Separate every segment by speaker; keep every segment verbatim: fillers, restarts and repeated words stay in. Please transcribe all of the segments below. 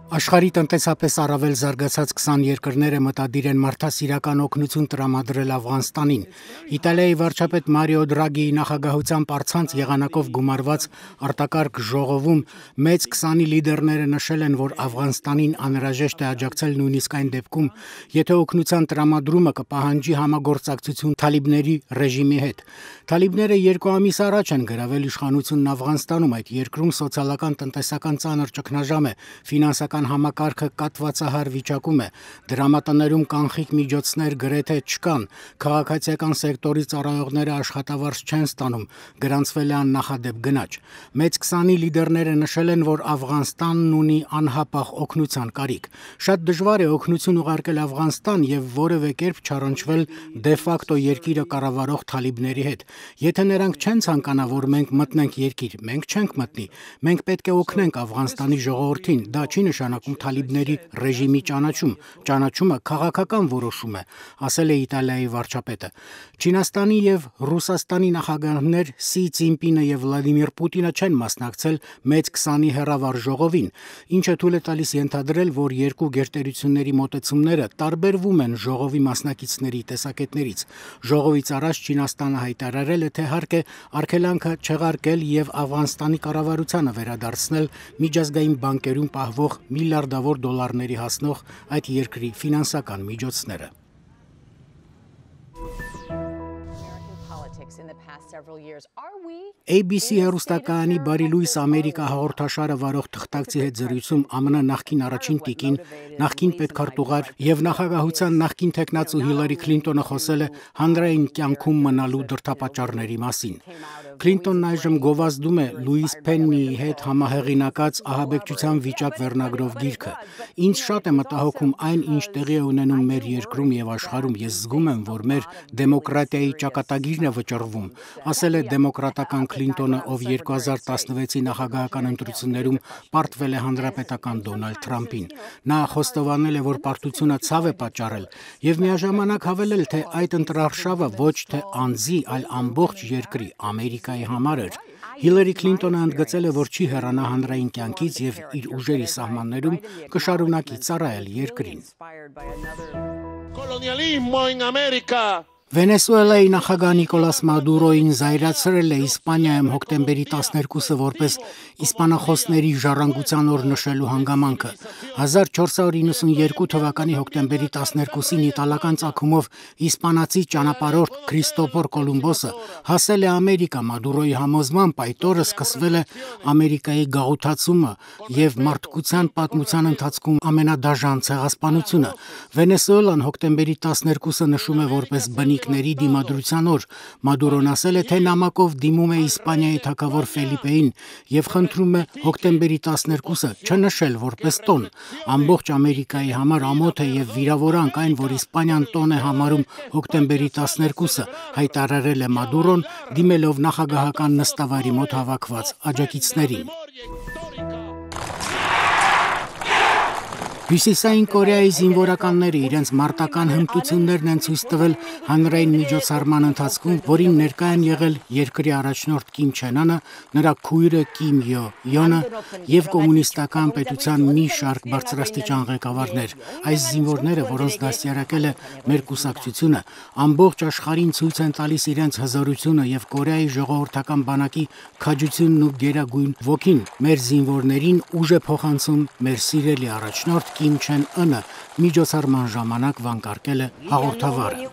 Speaker 1: Աշխարհի տնտեսապես առավել զարգացած քսան երկրները մտադիր են մարդասիրական օգնություն տրամադրել Աֆղանստանին։ Իտալիայի վարչապետ Մարիո Դրագիի նախագահությամբ առցանց եղանակով գումարված արտակարգ ժողովում մեծ քսանի լիդերները նշել են, որ Աֆղանստանին անհրաժեշտ է աջակցել նույնիսկ այն դեպքում, եթե օգնության տրամադրումը կպահանջի համագործակցություն թալիբների ռեժիմի հետ։ Թալիբները երկու ամիս առաջ են գրավել իշխանությունն Աֆղանստանում, այդ երկրում սոցիալական տնտեսական ծանր ճգնաժամ է, ֆինանսական համակարգը կատվածահար վիճակում է, դրամատներում կանխիկ միջոցներ գրեթե չկան, քաղաքացիական սեկտորի ծառայողները աշխատավարձ չեն ստանում, գրանցվել է աննախադեպ գնաճ։ Մեծ քսանի լիդերները նշել են, որ Աֆղանստանն ունի անհապաղ օգնության կարիք։ Շատ դժվար է օգնություն ուղարկել Աֆղանստան եւ որևէ կերպ չառնչվել դե ֆակտո երկիրը կառավարող թալիբների հետ։ Եթե նրանք չեն ցանկանա, որ մենք մտնենք երկիր, մենք չենք մտնի։ Մենք պետք է օգնենք Աֆղանստանի ժողովրդին, դա չի նշանակում թալիբների ռեժիմի ճանաչում, ճանաչումը քաղաքական որոշում է, ասել է Իտալիայի վարչապետը։ Չինաստանի եւ Ռուսաստանի նախագահներ Սի Ցինպինը եւ Վլադիմիր Պուտինը չեն մասնակցել մեծ քսանի հեռավար ժողովին, ինչը թույլ է տալիս ենթադրել, որ երկու գերտերությունների մոտեցումները տարբերվում են ժողովի մասնակիցների տեսակետներից։ Ժողովից առաջ Չինաստանը հայտարարել է, թե հարկ է արգելանքը չեղարկել եւ Աֆղանստանի կառավարությանը վերադարձնել միջազգային բանկերում պահվող միլիարդավոր դոլարների հասնող այդ երկրի ֆինանսական միջոցները։ Էյ Բի Սի հեռուստակայանի Բարի Լուիս Ամերիկա հաղորդաշարը վարող թղթակցի հետ զրույցում Ամն նախկին առաջին տիկին, նախկին պետքարտուղար եւ նախագահության նախկին տեխնացու Հիլարի Քլինտոնը խոսել է հանրային կյանքում մնալու դրդապատճառների մասին։ Քլինտոնն այժմ գովազդում է Լուիս Փեննիի հետ համահեղինակած ահաբեկչության վիճակ վերնագրով գիրքը։ Ինձ շատ է մտահոգում այն, ինչ տեղի է ունենում մեր երկրում եւ աշխարհում։ Ես զգում եմ, որ մեր դեմոկրատիայի ճակատագիրն է վճռվում, ասել է դեմոկրատական Քլինտոնը, ով երկու հազար տասնվեցի նախագահական ընտրություններում պարտվել է հանրապետական Դոնալդ Թրամփին։ Նա խոստովանել է, որ պարտությունը ցավ է պատճառել եւ միաժամանակ հավելել, թե այդ ընտրարշավը ոչ թե անձի, այլ ամբողջ երկրի Ամերիկայի համար էր։ Հիլարի Քլինտոնը ընդգծել է, որ չի հեռանա հանրային կյանքից եւ իր ուժերի սահմաններում կշարունակի ծառայել երկրին։ Վենեսուելայի նախագահ Նիկոլաս Մադուրոին զայրացրել է Իսպանիայում հոկտեմբերի տասներկուսը որպես իսպանախոսների ժառանգության օր նշելու հանգամանքը։ հազար չորս հարյուր իննսունյերկու թվականի հոկտեմբերի տասներկուսին իտալական ծագումով իսպանացի ճանապարհորդ Քրիստոֆոր Կոլումբոսը հասել է Ամերիկա։ Մադուրոյի համոզմամբ այդ օրը սկսվել է Ամերիկայի գաղութացումը եւ մարդկության պատմության ընթացքում ամենադաժան ցեղասպանությունը։ Վենեսուելան հոկտեմբերի տասներկուսը նշում է որպես բնիկների դիմադրության օր։ Մադուրոն ասել է, թե նամակով դիմում է Իսպանիայի թագավոր Ֆելիպեին եւ խնդրում է հոկտեմբերի տասներկուսը չնշել որպես տոն։ Ամբողջ Ամերիկայի համար ամոթ է եւ վիրավորանք այն, որ Իսպանիան տոն է համարում հոկտեմբերի տասներկուսը, հայտարարել է Մադուրոն, դիմելով նախագահական նստավայրի մոտ հավաքված աջակիցներին։ Հյուսիսային Կորեայի զինվորականները իրենց մարտական հմտություններն են ցույց տվել հանրային միջոցառման ընթացքում, որին ներկա են եղել երկրի առաջնորդ Կիմ Չեն Ընը, նրա քույրը Կիմ Յո Յոնը եւ կոմունիստական պետության մի շարք բարձրաստիճան ղեկավարներ։ Այս զինվորները, որոնց դաստիարակել է մեր կուսակցությունը, ամբողջ աշխարհին ցույց են տալիս իրենց հզորությունը եւ Կորեայի ժողովրդական բանակի քաջությունն ու գերագույն ոգին։ Մեր զինվորներին ուժ է փոխանցում մեր սիրելի առաջնորդ Կիմ Չեն Ընը, միջոցառման ժամանակ վանկարկել է հաղորդավարը։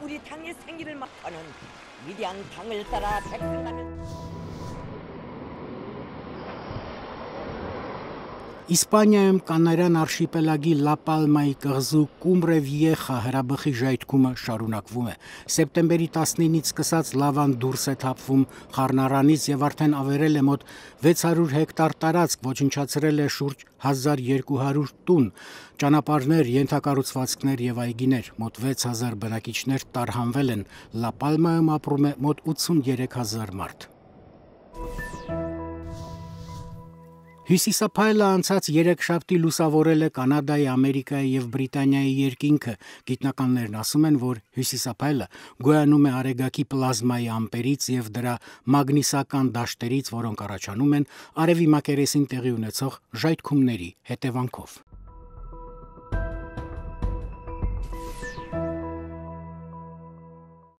Speaker 1: Իսպանիայում Կանարյան արշիպելագի Լա Պալմայի կղզու Կումբրե Վիեխա հրաբխի ժայթքումը շարունակվում է։ Սեպտեմբերի տասնինից սկսած լավան դուրս է թափվում խառնարանից եւ արդեն ավերել է մոտ վեց հարյուր հեկտար տարածք, ոչնչացրել է շուրջ հազար երկու հարյուր տուն, ճանապարհներ, ենթակառուցվածքներ եւ այգիներ։ Մոտ վեց հազար բնակիչներ տարհանվել են։ Լա Պալմայում ապրում է մոտ ութսուններեք հազար մարդ։ Հյուսիսափայլը անցած երեքշաբթի լուսավորել է Կանադայի, Ամերիկայի եւ Բրիտանիայի երկինքը։ Գիտնականներն ասում են, որ հյուսիսափայլը գոյանում է արեգակի պլազմայի ամպերից եւ դրա մագնիսական դաշտերից, որոնք առաջանում են արևի մակերեսին տեղի ունեցող ժայթքումների հետևանքով։